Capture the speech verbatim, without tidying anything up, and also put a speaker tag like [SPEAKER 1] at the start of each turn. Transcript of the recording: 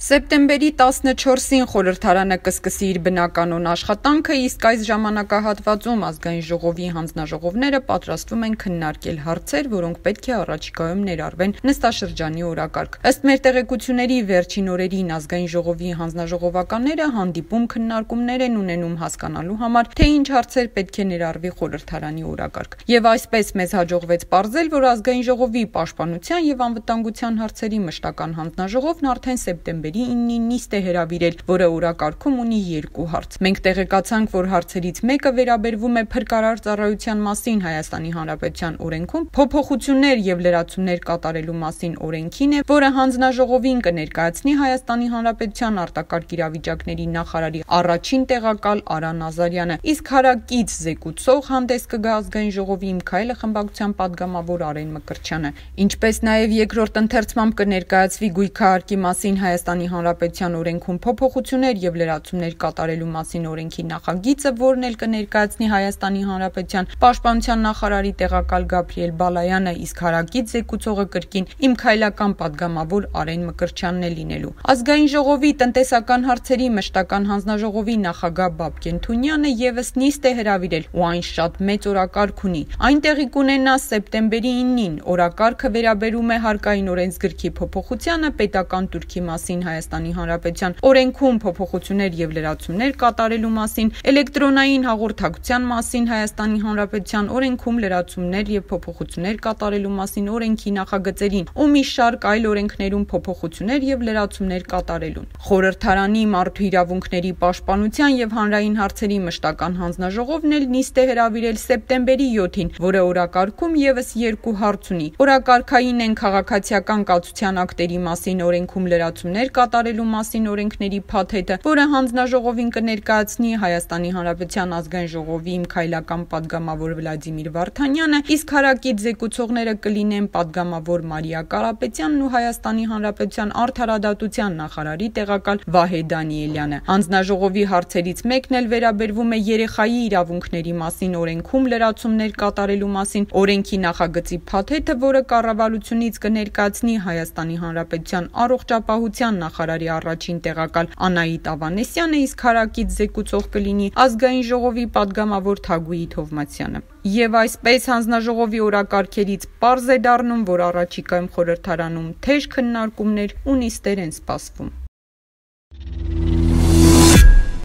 [SPEAKER 1] Սեպտեմբերի տասնչորսին խորհրդարանը կսկսի իր բնականոն աշխատանքը, իսկ այս ժամանակահատվածում ազգային ժողովի հանձնաժողովները պատրաստվում են քննարկել հարցեր, որոնք պետք է առաջիկայում ներառվեն նստաշրջանի օրակարգ։ Ըստ մեր տեղեկությունների, վերջին օրերին ազգային ժողովի հանձնաժողովականները հանդիպում քննարկումներ են ունենում հասկանալու համար, թե ինչ հարցեր պետք է ներառվի խորհրդարանի օրակարգ։ Եվ այսպես մեզ հաջողվեց պարզել, որ ազգային ժողովի պաշտպանության եւ անվտանգության հարցերի մշտական հանձնաժողովն արդեն սեպտեմբերի իննին նիստ է հրավիրել, որը օրակարգում ունի երկու հարց։ Մենք տեղեկացանք, որ հարցերից մեկը վերաբերվում է փրկարար ծառայության մասին Հայաստանի Հանրապետության օրենքում փոփոխություններ եւ լրացումներ կատարելու մասին օրենքին է, որը հանձնաժողովին կներկայացնի Հայաստանի Հանրապետության արտակարգ իրավիճակների նախարարի առաջին տեղակալ Արա Նազարյանը, իսկ հարակից զեկուցող հանդես կգա ազգային ժողովի Իմ քայլը խմբակցության падգամավոր Արեն Մկրտչյանը, ինչպես նաեւ երկրորդ ընթերցմամբ կներկայացվի գույքահարկի մասին Հայաստանի Հանրապետության օրենքում փոփոխություններ եւ լրացումներ կատարելու մասին օրենքի նախագիծը, որն էլ կներկայացնի Հայաստանի Հանրապետության պաշտպանության նախարարի տեղակալ Գաբրիել Բալայանը, իսկ հարակից զեկուցողը կրկին Իմ քայլական падգամավոր Արեն Մկրտչյանն է լինելու։ Ազգային ժողովի տնտեսական հարցերի մշտական հանձնաժողովի նախագահ Բաբկեն Թունյանը եւս նիստ է հրավիրել ու այն շատ մեծ օրակարգ ունի։ Այն տեղի կունենա սեպտեմբերի իննին։ Օրակարգը վերաբերում է հարկային օրենսգրքի փոփոխությանը, պետական турքի մասին Հայաստանի Հանրապետության օրենքում փոփոխություններ եւ լրացումներ կատարելու մասին, էլեկտրոնային հաղորդակցության մասին Հայաստանի Հանրապետության օրենքում լրացումներ եւ փոփոխություններ կատարելու մասին օրենքի նախագծերին ու մի շարք այլ օրենքներում փոփոխություններ եւ լրացումներ կատարելուն։ Խորհրդարանի մարդու իրավունքների պաշտպանության եւ հանրային հարցերի մշտական հանձնաժողովն էլ նիստ է հրավիրել սեպտեմբերի յոթին, որը օրակարգում եւս երկու հարց ունի։ Օրակարգային են քաղաքացիական կացության ակտերի մասին օրենքում լրացումներ կատարելու մասին օրենքների փաթեթը, որը հանձնաժողովին կներկայացնի Հայաստանի Հանրապետության ազգային ժողովի Իմ քայլական падգամավոր Վլադիմիր Վարդանյանը, իսկ հարակից զեկուցողները կլինեն падգամավոր Մարիա Կարապետյանն ու Հայաստանի Հանրապետության արդարադատության նախարարի տեղակալ Վահե Դանիելյանը։ Հանձնաժողովի հարցերից մեկն էլ վերաբերվում է երեխայի իրավունքների մասին օրենքում լրացումներ կատարելու մասին օրենքի նախագծի փաթեթը, որը կառավարությունից կներկայացնի Հայաստանի Հանրապետության առողջապահության նախարարի առաջին տեղակալ Անահիտ Ավանեսյանը, իսկ հարակից զեկուցող կլինի ազգային ժողովի падգամավոր Թագուհի Թովմասյանը։ Եվ այսպես հանձնաժողովի օրակարգերից պարզ է դառնում, որ առաջիկայում խորհրդարանում թեժ քննարկումներ ու նիստեր են սպասվում։